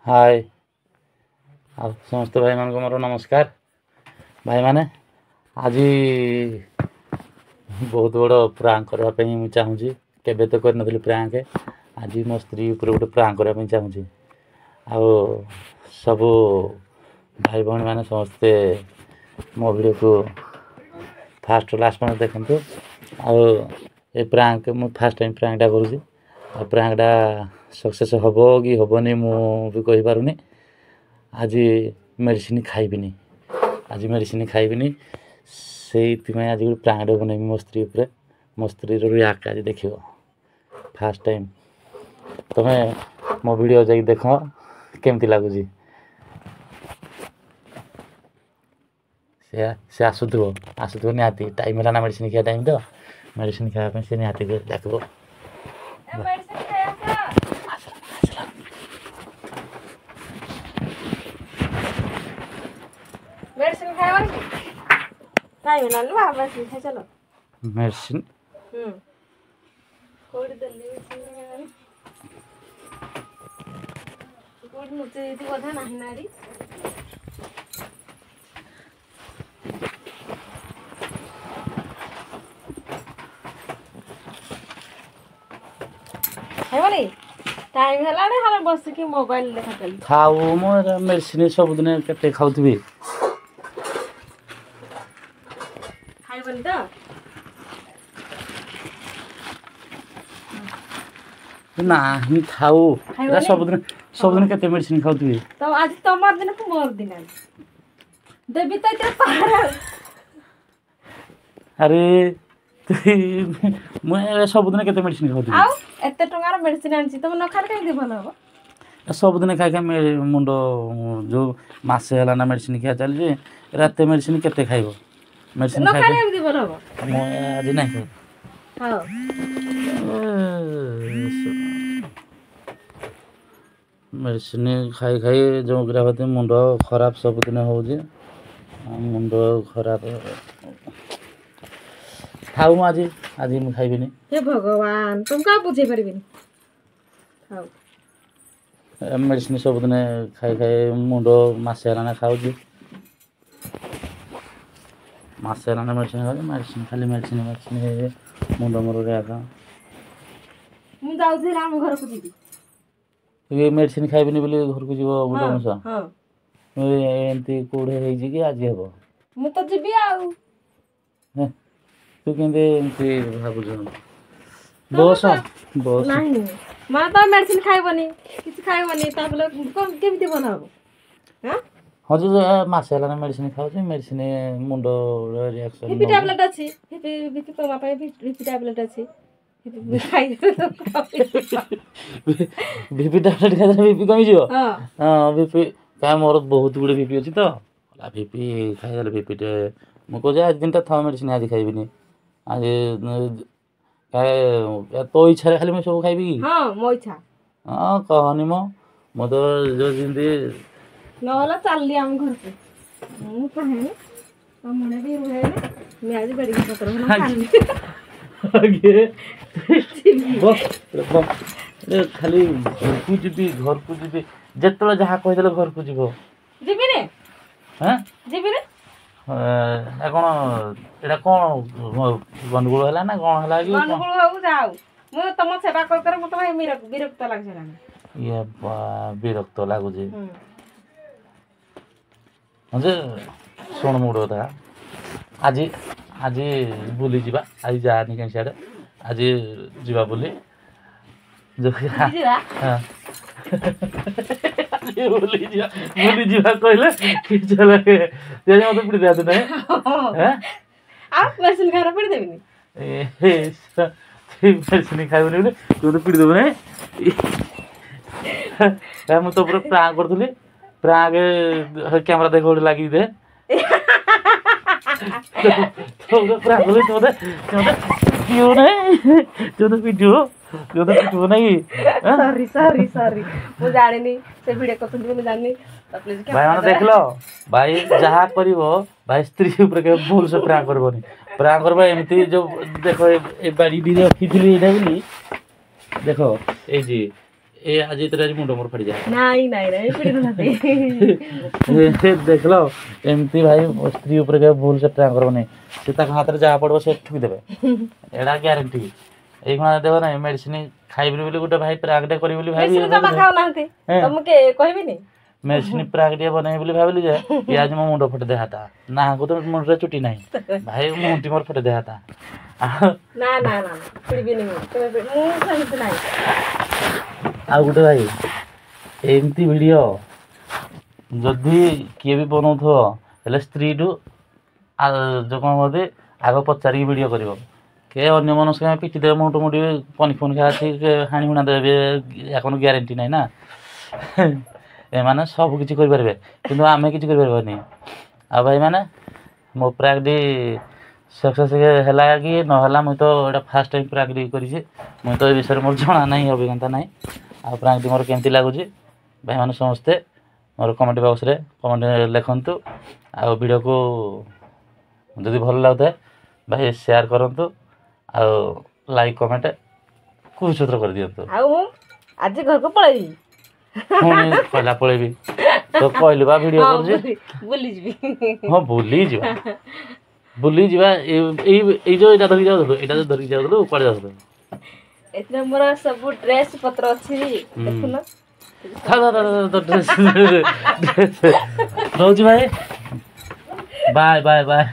ହାଏ, ଆଉ ସମସ୍ତ ଭାଇମାନଙ୍କୁ ମୋର ନମସ୍କାର। ଭାଇମାନେ, ଆଜି ବହୁତ ବଡ଼ ପ୍ରାଙ୍କ କରିବା ପାଇଁ ମୁଁ ଚାହୁଁଛି। କେବେ ତ କରିନଥିଲି ପ୍ରାଙ୍କ। ଆଜି ମୋ ସ୍ତ୍ରୀ ଉପରେ ଗୋଟେ ପ୍ରାଙ୍କ କରିବା ପାଇଁ ଚାହୁଁଛି। ଆଉ ସବୁ ଭାଇ ଭଉଣୀମାନେ ସମସ୍ତେ ମୋ ଭିଡ଼ିଓକୁ ଫାଷ୍ଟ ଲାଷ୍ଟ ପର୍ଯ୍ୟନ୍ତ ଦେଖନ୍ତୁ। ଆଉ ଏ ପ୍ରାଙ୍କ ମୁଁ ଫାଷ୍ଟ ଟାଇମ୍ ପ୍ରାଙ୍କଟା କରୁଛି। ଆଉ ପ୍ରାଙ୍କଟା ସକ୍ସେସ୍ ହେବ କି ହେବନି ମୁଁ ବି କହିପାରୁନି। ଆଜି ମେଡ଼ିସିନ ଖାଇବିନି, ଆଜି ମେଡ଼ିସିନ ଖାଇବିନି। ସେଇଥିପାଇଁ ଆଜି ଗୋଟେ ପ୍ରାଙ୍କଟେ ବନେଇବି ମୋ ସ୍ତ୍ରୀ ଉପରେ। ମୋ ସ୍ତ୍ରୀର ରିଆକ୍ଟ ଆଜି ଦେଖିବ ଫାଷ୍ଟ ଟାଇମ୍। ତମେ ମୋ ଭିଡ଼ିଓ ଯାଇକି ଦେଖ କେମିତି ଲାଗୁଛି। ସେ ଆସୁଥିବ, ଆସୁଥିବ ନିହାତି। ଟାଇମ୍ ହେଲା ନା ମେଡ଼ିସିନ ଖିଆ ଟାଇମ୍, ତ ମେଡ଼ିସିନ ଖାଇବା ପାଇଁ ସେ ନିହାତି ଡାକିବ। ଆସିଲା। ମେଡିସିନ ଖାଇବନି କି? ଟାଇମ୍ ହେଲାନି ବା, ମେଡିସିନ ଖାଇ ଚାଲ। ମେଡ଼ିସିନ? କୋଉଠି ଦେଲି ମେଡିସିନ? କୋଉଠି ଲୁଚେଇ ଦେଇଛି ବୋଧେ, ନାହିଁ ନା ଏଠି। ଖାଇବନି? ଟାଇମ୍ ହେଲାଣି, ଖାଲି ବସିକି ମୋବାଇଲ ଦେଖା ଚାଲିଛି। ଥାଉ, ମୁଁ ମେଡ଼ିସିନ ସବୁଦିନ କେତେ ଖାଉଥିବି? ଖାଇବନି ତ? ନାହିଁ, ଥାଉ। ଏଟା ସବୁଦିନ ସବୁଦିନ କେତେ ମେଡ଼ିସିନ ଖାଉଥିବି? ତ ଆଜି ତମର ଦିନ କି ମୋର ଦିନ ଦେବି ତ ଏଥିରେ ପାହାର। ଆରେ, ମୁଁ ସବୁଦିନ କେତେ ମେଡ଼ିସିନ ଖାଉଥିବି? ଆଉ ଏତେ ଟଙ୍କାର ମେଡ଼ିସିନ ଆଣିଛି, ତମେ ନ ଖାଇଲେ କେମିତି ଭଲ ହବ? ସବୁଦିନ ଖାଇ ଖାଇ ମୁଣ୍ଡ, ଯୋଉ ମାସେ ହେଲା ନା ମେଡ଼ିସିନ ଖିଆ ଚାଲିଛି। ରାତି ମେଡ଼ିସିନ କେତେ ଖାଇବ? ମେଡ଼ିସିନ ନ ଖାଇଲେ କେମିତି ଭଲ ହବ? ମୁଁ ଆଜି ନାହିଁ ଖାଇବି। ମେଡ଼ିସିନ ଖାଇ ଖାଇ ଯେଉଁ ଗ୍ରାହତି ମୁଣ୍ଡ ଖରାପ ସବୁଦିନ ହେଉଛି, ମୁଣ୍ଡ ଖରାପ। ଥାଉ, ମୁଁ ଆଜି ଆଜି ମୁଁ ଖାଇବିନି। ହେ ଭଗବାନ, ତୁମକୁ ଆଉ ବୁଝେଇ ପାରିବିନି। ଥାଉ। ମେଡ଼ିସିନ ସବୁଦିନ ଖାଇ ଖାଇ ମୁଣ୍ଡ, ମାସେ ହେଲାଣି ଖାଉଛି, ମାସେ ହେଲାଣି ମେଡ଼ିସିନ ଖାଉଛି। ମେଡ଼ିସିନ ଖାଲି ମେଡ଼ିସିନ ମେଡ଼ିସିନ ମୁଣ୍ଡ ମୋର ରେଆକ। ମୁଁ ଯାଉଛି ଆମ ଘରକୁ ଯିବି। ଏ ମେଡ଼ିସିନ ଖାଇବିନି ବୋଲି ଘରକୁ ଯିବ ମୁଣ୍ଡ ମଶା? ଏମିତି କୋଉଠି ହେଇଛି କି ଆଜି ହେବ? ମୁଁ ତ ଯିବି ଆଉ। ତୁ କେମିତି ଏମିତି ଭାବୁଛୁ? ବସ ବସ। ନାହିଁ ମା, ତ ମେଡ଼ିସିନ ଖାଇବନି, କିଛି ଖାଇବନି, ତାପରେ କେମିତି ଭଲ ହବ? ହଁ ଯେ, ମାସେ ହେଲାଣି ମେଡ଼ିସିନ ଖାଉଛି, ମେଡ଼ିସିନ ମୁଣ୍ଡ ରିଆକ୍ସନ। ବିପି ଟ୍ୟାବଲେଟ୍ ଅଛି, ବିପି ବିପି କମା ପାଇଁ ବିପି ଟ୍ୟାବଲେଟ୍ ଅଛି। ବିପି ଟ୍ୟାବଲେଟ୍ ଖାଇଦେଲେ ବିପି କମିଯିବ? ହଁ, ବିପି କାଇଁ ମୋର ବହୁତ ଗୁଡ଼ିଏ ବିପି ଅଛି ତ। ବିପି ଖାଇଦେଲେ ବିପିଟେ, ମୁଁ କହୁଛି ଆଜି ଦିନଟା ଥାଉ, ମେଡ଼ିସିନ ଆଜି ଖାଇବିନି। ଆଜି ତୋ ଇଚ୍ଛାରେ ଖାଲି ମୁଁ ସବୁ ଖାଇବି କି? ହଁ, ମୋ ଇଚ୍ଛା। ହଁ, କହନି ମୁଁ ତ ଯୋଉ ଯେମିତି ନହେଲେ ଚାଲିଲି ଆମ ଘରକୁ। ମୁଁ ଚାହେଁନି ତମେ ବି ରୁହେନି। ମୁଁ ଆଜି ବେଡ଼ିକି ପତ୍ର ଖାଲି ଘରକୁ ଯିବି, ଘରକୁ ଯିବି। ଯେତେବେଳେ ଯାହା କହିଦେଲେ ଘରକୁ ଯିବ। ଯିବିନି? ହଁ, ଯିବିନି। କ'ଣ ଏଇଟା? କ'ଣ ଗଣ୍ଡଗୋଳ ହେଲା ନା କ'ଣ ହେଲା କି? ଗଣ୍ଡଗୋଳ ହଉ ଯାଉ, ମୁଁ ତମ ସେବା କରି କରି ମତେ ଭାଇ ବିରକ୍ତ ଲାଗୁଛି। ଇଏ ବିରକ୍ତ ଲାଗୁଛି ଯେ। ଶୁଣ, ମୁଁ ଗୋଟେ କଥା, ଆଜି ଆଜି ବୁଲିଯିବା। ଆଜି ଯାଆନି କାହିଁ ସିଆଡ଼େ, ଆଜି ଯିବା ବୁଲି। ବୁଲିଯିବା, ବୁଲିଯିବା କହିଲେ କିଛି ଲାଗେ ମତେ ପିଟି ଦିଅନ୍ତୁ ନାହିଁ। ଆଉ ମେଡ଼ିସିନ ଖାଇବା ପିଟି ଦେବିନି? ମେଡ଼ିସିନ ଖାଇବୁନି ବୋଲି ତୁ ମତେ ପିଟି ଦେବୁ ନାହିଁ? ମୁଁ ତ ପୁରା ପ୍ରାଙ୍କ କରୁଥିଲି। ପ୍ରାଙ୍କ କ୍ୟାମେରା ଦେଖ, ଗୋଟେ ଲାଗିକି ଦେ। ତୋ ପ୍ରାଙ୍କ କଲେ ତୁ ମତେ ପିଟିବୁ ନାହିଁ? ତୁ ମତେ ପିଟିବୁ, ତୁ ମତେ ପିଟିବୁ ନାଇଁ କି? ସରି ସରି ସରି, ମୁଁ ଜାଣିନି ସେ ଭିଡ଼ିଓ କରୁଛନ୍ତି ବୋଲି ଜାଣିନି। ଭାଇମାନେ ଦେଖିଲ, ଭାଇ ଯାହା କରିବ ଭାଇ ସ୍ତ୍ରୀ ଉପରେ କେବେ ଭୁଲ ସେ ପ୍ରାଙ୍କ କରିବନି। ପ୍ରାଙ୍କ କରିବ ଏମିତି, ଯୋଉ ଦେଖ ଏ ବାଡ଼ି ରଖିଥିଲି ଏଇଟା ବୋଲି ଦେଖ, ଏଇ ଯେ ଏ ଆଜି ଏଥିରେ ଆଜି ମୁଣ୍ଡ ମୋର ଫାଟିଯାଏ। ନାଇଁ ନାଇଁ ନାଇଁ, ପିଟି। ଦେଖିଲ, ଏମିତି ଭାଇ ସ୍ତ୍ରୀ ଉପରେ କେବେ ଭୁଲ ସେ ପ୍ରାଙ୍କ କରିବନି। ସେ ତାଙ୍କ ହାତରେ ଯାହା ପଡ଼ିବ ସେ ଠୁକିଦେବେ, ଏଇଟା ଗ୍ୟାରେଣ୍ଟି। ଏଇ କଣ ଦେବ ନାହିଁ ମେଡିସିନ ଖାଇବିନି ବୋଲି ଗୋଟେ ଭାଇ ପ୍ରାଙ୍କଟେ କରିବି ବୋଲି ଭାବି ଖାଉନାହାନ୍ତି, ମୁଁ କହିବିନି। ମେଡିସିନ ପ୍ରାଙ୍କ ଟିକେ ବନେଇବି ବୋଲି ଭାବିଲି ଯେ ଇଏ ଆଜି ମୋ ମୁଣ୍ଡ ଫଟେଇ ଦେହାତା। ନାହାକୁ ତ ମୁଣ୍ଡରେ ଚୁଟି ନାହିଁ ଭାଇ, ମୁଣ୍ଡଟି ମୋର ଫଟେଇ ଦେହାତା। ନା ନା ନା, ପିଡ଼ିବିନି ମୁଁ, ମୁଁ ସେମିତି ନାହିଁ। ଆଉ ଗୋଟେ ଭାଇ, ଏମିତି ଭିଡ଼ିଓ ଯଦି କିଏ ବି ବନଉଥିବ ହେଲେ ସ୍ତ୍ରୀଠୁ ଯେଉଁ କ'ଣ କୁହନ୍ତି, ଆଗ ପଚାରିକି ଭିଡ଼ିଓ କରିବ। କେ ଅନ୍ୟ ମନସ୍କ ପିଟି ଦେବେ, ମୁଣ୍ଡ ମୁଣ୍ଡି ପନି ଫନି ଖା ଅଛି, ହାଣି ହୁଣା ଦେବେ, କ'ଣ ଗ୍ୟାରେଣ୍ଟି ନାହିଁ ନା। ଏମାନେ ସବୁ କିଛି କରିପାରିବେ, କିନ୍ତୁ ଆମେ କିଛି କରିପାରିବାନି। ଆଉ ଭାଇମାନେ, ମୋ ପ୍ରାଙ୍କଟି ସକ୍ସେସ୍ ହେଲା କି ନହେଲା, ମୁଇଁ ତ ଏଇଟା ଫାର୍ଷ୍ଟ ଟାଇମ୍ ପ୍ରାଙ୍କଟି କରିଛି। ମୁଇଁ ତ ଏ ବିଷୟରେ ମୋର ଜଣା ନାହିଁ, ଅଭିଜ୍ଞତା ନାହିଁ। ଆଉ ପ୍ରାଙ୍କଟି ମୋର କେମିତି ଲାଗୁଛି ଭାଇମାନେ ସମସ୍ତେ ମୋର କମେଣ୍ଟ ବକ୍ସରେ କମେଣ୍ଟ ଲେଖନ୍ତୁ। ଆଉ ଭିଡ଼ିଓକୁ ଯଦି ଭଲ ଲାଗୁଥାଏ ଭାଇ, ସେୟାର କରନ୍ତୁ ଆଉ ଲାଇକ୍ କମେଣ୍ଟ କୁଛତ୍ର କରିଦିଅନ୍ତୁ। ଆଉ ମୁଁ ଆଜି ଘରକୁ ପଳେଇବି। ପୁଣି କହିଲା ପଳେଇବି। ତ କହିଲି ବା ଭିଡ଼ିଓ କରୁଛି। ବୁଲିଯିବି। ହଁ, ବୁଲିଯିବା, ବୁଲିଯିବା। ଏଇ ଏଇ ଯୋଉ ଏଇଟା ଧରିକି ଯାଉଥିଲୁ, ଏଇଟା ଯୋଉ ଧରିକି ଯାଉଥିଲୁ, କୁଆଡ଼େ ଯାଉଥିଲୁ? ଏଥିରେ ମୋର ସବୁ ଡ୍ରେସ୍ ପତ୍ର ଅଛି, ଦେଖୁନ। ଡ୍ରେସ୍। ରହୁଛି ଭାଇ, ବାଏ ବାଏ ବାଏ।